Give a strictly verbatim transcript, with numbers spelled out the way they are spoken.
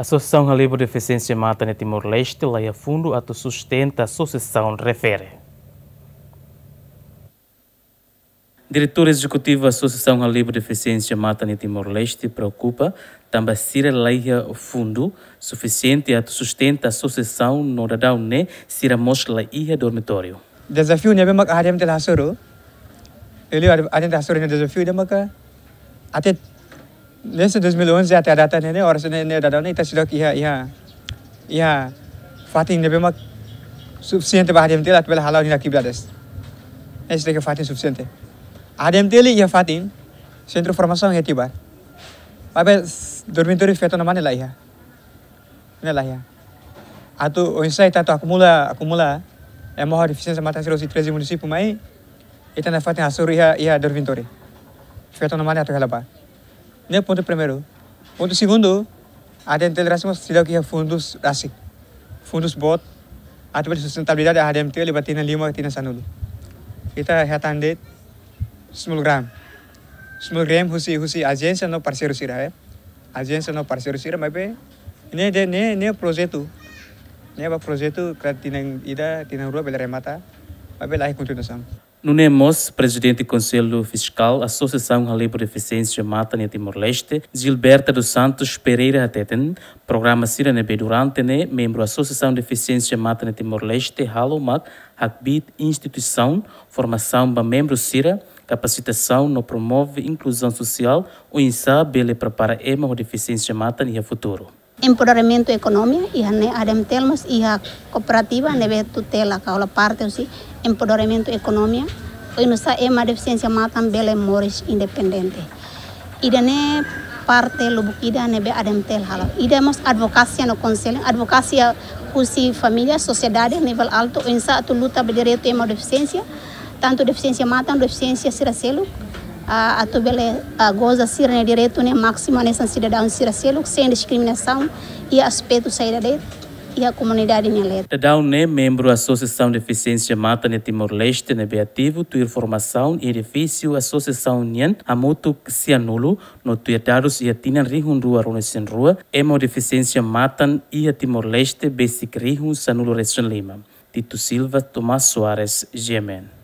Asosiasaun Halibur Defisiénsia Matan iha Timor-Leste laiha fundu atu sustenta asosiasaun refere. Diretór Ezekutivu Asosiasaun Halibur Defisiénsia Matan iha Timor-Leste preokupa tanba sira laiha fundu sufisiente atu sustenta asosiasaun no daudaun ne'e sira mós laiha dormitóriu. Dezafiu ne'ebé mak A D M T L hasoru. Ele A D M T L hasoru ne'e dezafiu ida maka até desde dois mil e onze até a data ne'e, ne'e oras ne'e, ne'e daudaun ne'e ita seidauk iha, iha, iha fatin ne'ebé mak sufisiente ba A D M T L atu bele hala'o ninia atividades. Ne'e seidauk iha fatin sufisiente. A D M T L iha fatin, sentru formasaun iha Tibar. Maibé s-, dormitóriu feto no mane laiha. Ne'e laiha. Atu oinsá ita atu akumula, akumula ema ho defisiénsia matan sira husi treze munisípiu mai, ita nafatin hasoru iha, iha dormitóriu. Feto no mane atu hela ba. Ne'e pontu primeiru. Pontu segundu, A D M T L rasik mós seidauk iha fundus rasik. Fundus boot, atu bele sustentabilidade A D M T L ba tinan lima, tinan sanulu. Ita hetan de'it small grant. Small grant husi, husi ajénsia no parseiru sira, eh. Ajénsia no parseiru sira, maibé ne'e de'it, ne'e, ne'e projetu. Ne'e ba projetu kala tinan ida, tinan rua bele remata, maibé laiha kontinuasaun. Nune'e mós, Prezidente Konsellu Fiskál Asosiasaun Halibur Defisiénsia Matan iha Timor-Leste, Gilberta dos Santos Pereira hateten, programa sira ne'ebé durante ne'e membru Asosiasaun Defisiénsia Matan iha Timor-Leste halo mak hakbiit instituisaun, formasaun ba membru sira, kapasitasaun no promove inkluzaun sosiál, oinsá bele prepara ema ho defisiénsia matan iha futuru. Empoderamentu ekonomia, iha ne'e A D M T L mós iha kooperativa ne'ebé tutela ka hola parte husi empoderamentu ekonomia, oinsá ema defisiénsia matan bele moris independente. Ida-ne'e parte lubuk ida ne'ebé A D M T L halo. Ida mós advokasia no konsellu, advokasia husi família, sosiedade nivel altu, oinsá atu luta ba direitu ema defisiénsia, tantu defisiénsia matan, defisiénsia sira seluk, ah, atu bele, ah, goza sira-nia direitu ne'e másimu hanesan sidadaun sira seluk, sein diskriminasaun iha aspetu saida de'it iha komunidade nia leet. Daudaun ne'e membru Asosiasaun Defisiénsia Matan iha Timor-Leste ne'ebé ativu tuir formasaun iha edifísiu asosiasaun nian hamutuk sianulu, no tuir dadus iha tinan rihun rua ruanulu-resin-rua, ema ho defisiénsia matan iha Timor-Leste besik rihun sanulu-resin-lima. Tito Silva, Tomás Soares, G M N.